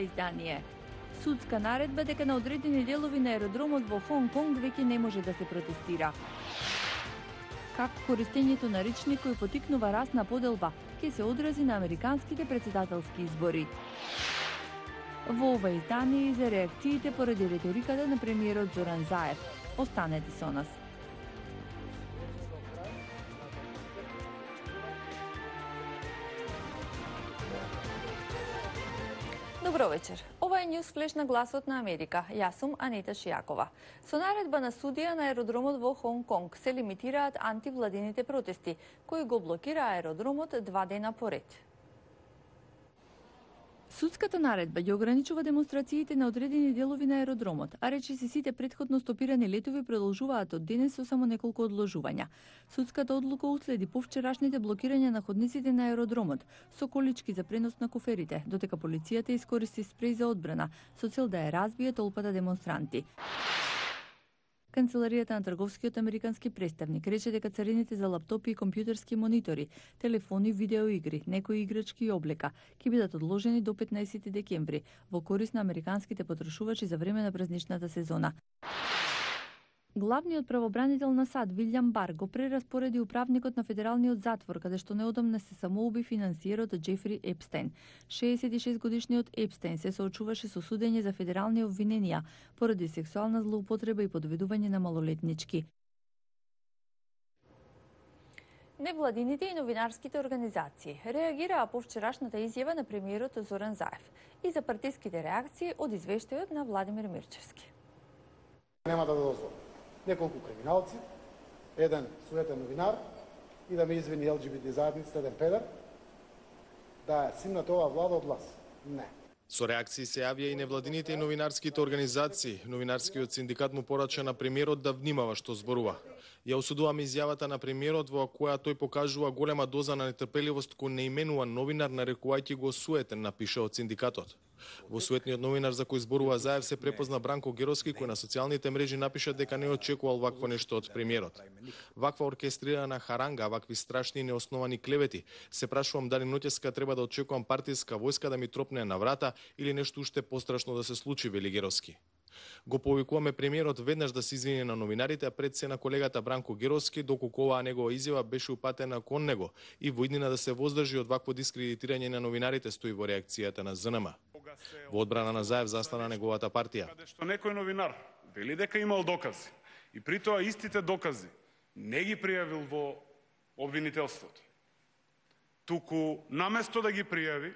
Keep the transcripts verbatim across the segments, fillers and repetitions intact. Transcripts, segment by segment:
издание. Судска наредба дека на одредени делови на аеродромот во Хонг Конг веќе не може да се протестира. Како користењето на речник кој потикнува раст на поделба ќе се одрази на американските претседателски избори. Во ова издание и за реакциите поради риториката на премиерот Зоран Заев. Останете со нас. Добро вечер. Ова е News Flash на Гласот на Америка. Јас сум Анита Шијакова. Со наредба на судија на аеродромот во Хонг Конг се лимитираат антивладините протести, кои го блокира аеродромот два дена поред. Судската наредба ги ограничува демонстрациите на одредени делови на аеродромот, а речиси сите претходно стопирани летови продолжуваат од денес со само неколку одложувања. Судската одлука уследи повчерашните блокирања на ходниците на аеродромот со колички за пренос на куферите, додека полицијата искористи спреј за одбрана со цел да ја разбие толпата демонстранти. Канцеларијата на трговскиот американски представник рече дека царините за лаптопи и компјутерски монитори, телефони, видеоигри, некои играчки и облека ќе бидат одложени до петнаесети декември во корист на американските потрошувачи за време на празничната сезона. Главниот правобранител на САД Вилјам Бар го прераспореди управникот на федералниот затвор, каде што неодамна се самоуби финансиерот Џефри Епстеин. шеесет и шест годишниот Епстеин се соочуваше со судење за федерални обвиненија поради сексуална злоупотреба и подведување на малолетнички. Невладините и новинарските организации реагираа по вчерашната изјава на премиерот Зоран Заев и за партиските реакции од извештајот на Владимир Мирчевски. Нема да дозволам неколку криминалци, еден суетен новинар и да ме извини Ел Џи Би Ти заедницата, еден педер, да ја симнат оваа влада од власт. Не. Со реакции се јавија и невладините и новинарските организации. Новинарскиот синдикат му порача на премиерот да внимава што зборува. Ја осудуваме изјавата на премиерот во која тој покажува голема доза на нетрпеливост кој не именува новинар нарекувајќи го суетен, напиша од синдикатот. Во суетниот новинар за кој зборува Заев се препозна Бранко Геровски, кој на социјалните мрежи напиша дека не очекувал вакво нешто од премиерот. Ваква оркестрирана харанга, вакви страшни и неосновани клевети. Се прашувам дали ноќеска треба да очекувам партиска војска да ми тропне на врата или нешто уште пострашно да се случи, вели Геровски. Го повикуваме премиерот веднаш да се извини на новинарите, а пред се на колегата Бранко Геровски, доколку оваа негова изјава беше упатена кон него и во иднина да се воздржи од вакво дискредитирање на новинарите, стои во реакцијата на З Н М. Во одбрана на Заев застана неговата партија. Каде што некој новинар вели дека имал докази и при тоа истите докази не ги пријавил во обвинителството. Туку наместо да ги пријави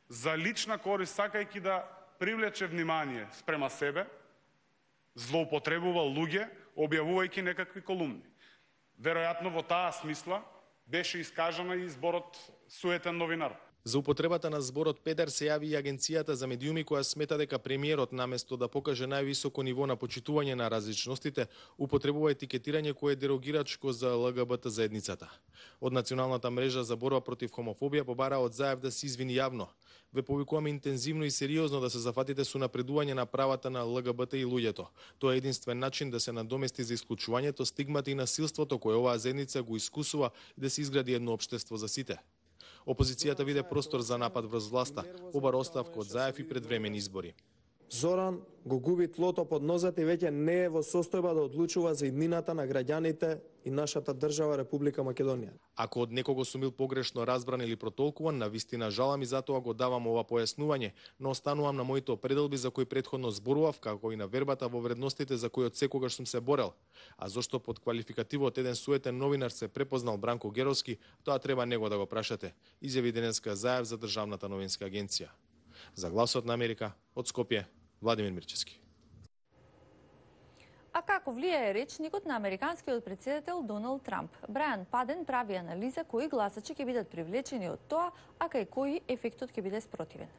за лична корист, сакајќи да привлече внимание спрема себе, злоупотребувал луѓе, објавувајќи некакви колумни. Веројатно во таа смисла беше искажана и зборот суетен новинар. За употребата на зборот педер се јави и Агенцијата за медиуми, која смета дека премиерот наместо да покаже највисоко ниво на почитување на различностите, употребува етикетирање кое е дерогирачко за Л Г Б Т заедницата. Од Националната мрежа за борба против хомофобија побара од Заев да се извини јавно. Ве повикуваме интензивно и сериозно да се зафатите со напредување на правата на Л Г Б Т и луѓето. Тоа е единствен начин да се надомести за исклучувањето, стигмата и насилството кое оваа заедница го искусува и да се изгради едно општество за сите. Опозицијата виде простор за напад врз власта, побара оставка од Заев и предвремени избори. Зоран го губи тлото под нозете и веќе не е во состојба да одлучува за иднината на граѓаните и нашата држава Република Македонија. Ако од некого сум бил погрешно разбран или протолкуван, навистина жалам и затоа го давам ова појаснување, но останувам на моите определби за кои претходно зборував, како и на вербата во вредностите за кои од секогаш сум се борел. А зошто под квалификативот еден суетен новинар се препознал Бранко Геровски, тоа треба него да го прашате, изјави денеска Заев за Државната новинска агенција. За Гласот на Америка, од Скопје, Владимир Мирчевски. А како влијае речникот на американскиот претседател Доналд Трамп? Брајан Паден прави анализа кои гласачи ќе бидат привлечени од тоа, а кај кои ефектот ќе биде спротивен.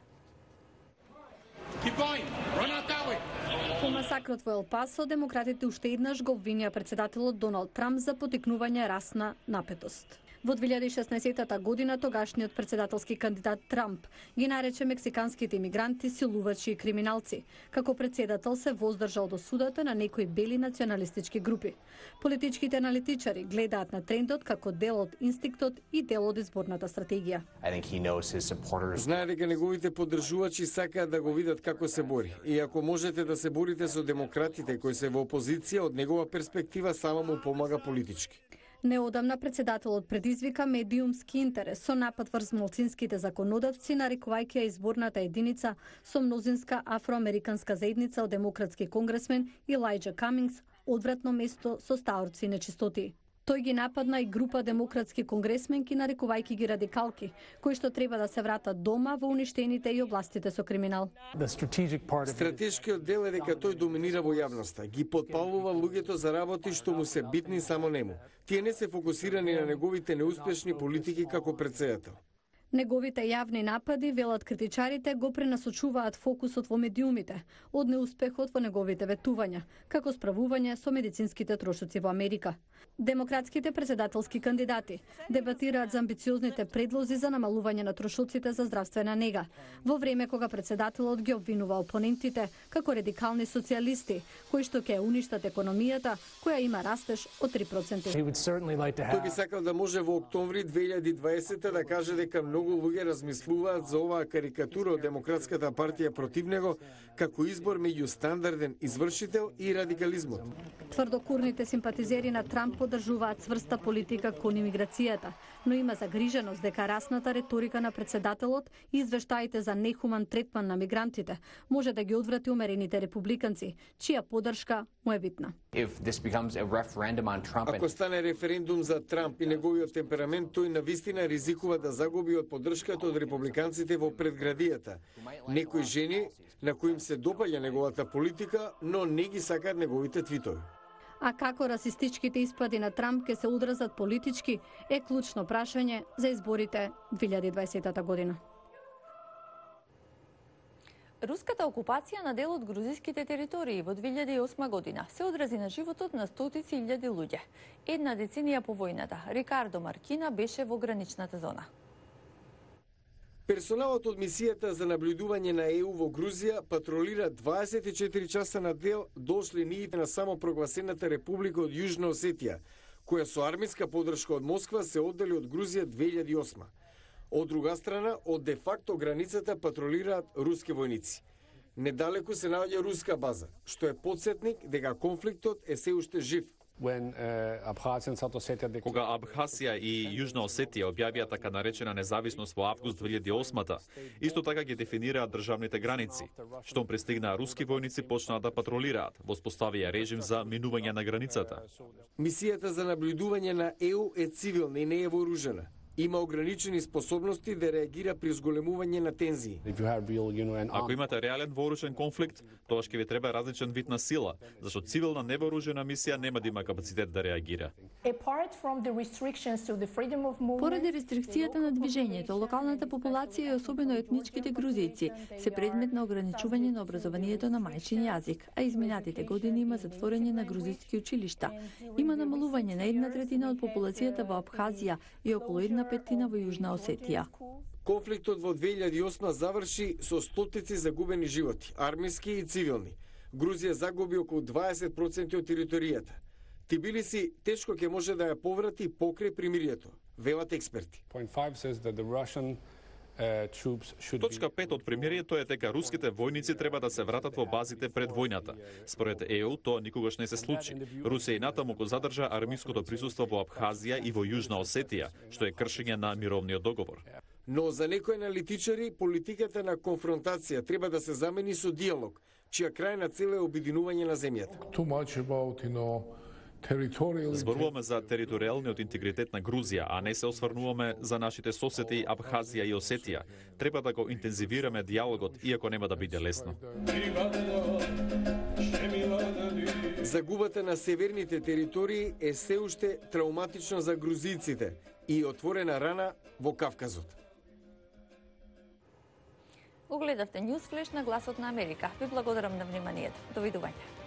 По масакрот во Ел Пасо, демократите уште еднаш го обвинија претседателот Доналд Трамп за потикнување расна напетост. Во две илјади и шеснаесетта година тогашниот председателски кандидат Трамп ги нарече мексиканските имигранти силувачи и криминалци. Како председател се воздржал до судата на некои бели националистички групи. Политичките аналитичари гледаат на трендот како дел од инстинктот и дел од изборната стратегија. Знае дека неговите поддржувачи сакаат да го видат како се бори. И ако можете да се борите со демократите кои се во опозиција, од негова перспектива само му помага политички. Неодамна председателот предизвика медиумски интерес со напад врз малцинските законодавци, нарекувајќи ја изборната единица со мнозинска афроамериканска заедница од демократски конгресмен Илајџа Камингс одвратно место со стаорци и нечистоти. Тој ги нападна и група демократски конгресменки, нарекувајќи ги радикалки, кои што треба да се вратат дома во уништените и областите со криминал. Стратешкиот дел е дека тој доминира во јавноста, ги потпалува луѓето за работи што му се битни само нему. Тие не се фокусирани на неговите неуспешни политики како председател. Неговите јавни напади, велат критичарите, го пренасочуваат фокусот во медиумите од неуспехот во неговите ветувања, како справување со медицинските трошоци во Америка. Демократските председателски кандидати дебатираат за амбициозните предлози за намалување на трошоците за здравствена нега, во време кога председателот ги обвинува опонентите како радикални социјалисти, кои што ќе уништат економијата, која има растеж од три проценти. Тој би сакал да може во октомври две илјади и дваесета да каже дека многу луѓе размислуваат за оваа карикатура од Демократската партија против него како избор меѓу стандарден извршител и радикализмот. Тврдокурните симпатизери на Трамп поддржуваат цврста политика кон имиграцијата, но има загриженост дека расната реторика на председателот и извештаите за нехуман третман на мигрантите може да ги одврати умерените републиканци, чија поддршка му е битна. Ако стане референдум за Трамп и неговиот темперамент, тој навистина ризикува да загуби од поддршката од републиканците во предградијата. Некои жени на кои им се допаѓа неговата политика, но не ги сакаат неговите твитови. А како расистичките испади на Трамп ќе се одразат политички е клучно прашање за изборите две илјади и дваесетта година. Руската окупација на дел од грузиските територии во две илјади и осма година се одрази на животот на стотици илјади луѓе. Една деценија по војната, Рикардо Маркина беше во граничната зона. Персоналот од мисијата за наблюдување на Е У во Грузија патролира дваесет и четири часа на дел до линиите на самопрогласената Република од Јужна Осетија, која со армиска поддршка од Москва се оддели од Грузија две илјади и осма. Од друга страна, од де факто границата патролираат руски војници. Недалеку се наоѓа руска база, што е потсетник дека конфликтот е се уште жив. Кога Абхазија и Јужна Осетија објавија така наречена независност во август две илјади и осма, исто така ги дефинираа државните граници. Штом пристигнаа руски војници, почнаа да патролираат, воспоставија режим за минување на границата. Мисијата за наблюдување на Е У е цивилна и не е вооружена. Има ограничени способности да реагира при зголемување на тензии. Ако имате реален вооружен конфликт, тогаш ќе ви треба различен вид на сила, зашто цивилна невооружена мисија нема да има капацитет да реагира. Поради рестрикцијата на движењето, локалната популација и особено етничките грузијци се предмет на ограничување на образованието на мајчин јазик, а изминатите години има затворање на грузиски училишта. Има намалување на една третина од популацијата во Абхазија и околу една петина во Јужна Осетија. Конфликтот во две илјади и осма заврши со стотици загубени животи, армиски и цивилни. Грузија загуби околу дваесет проценти од територијата. Тбилиси тешко ќе може да ја поврати покрај примирието, велат експерти. Точка пет од примирието е дека руските војници треба да се вратат во базите пред војната. Според Е У, тоа никогаш не се случи. Русија и натаму го задржа армиското присуство во Абхазија и во Јужна Осетија, што е кршење на мировниот договор. Но за некои аналитичари, политиката на конфронтација треба да се замени со диалог, чија крајна цел е обединување на земјата. Зборуваме за територијалниот интегритет на Грузија, а не се осврнуваме за нашите соседи Абхазија и Осетија. Треба да го интензивираме диалогот, иако нема да биде лесно. Загубата на северните територии е се уште трауматична за грузиците и отворена рана во Кавказот. Го гледавте Ньюс Флеш на Гласот на Америка. Ви благодарам на вниманието. Довидување.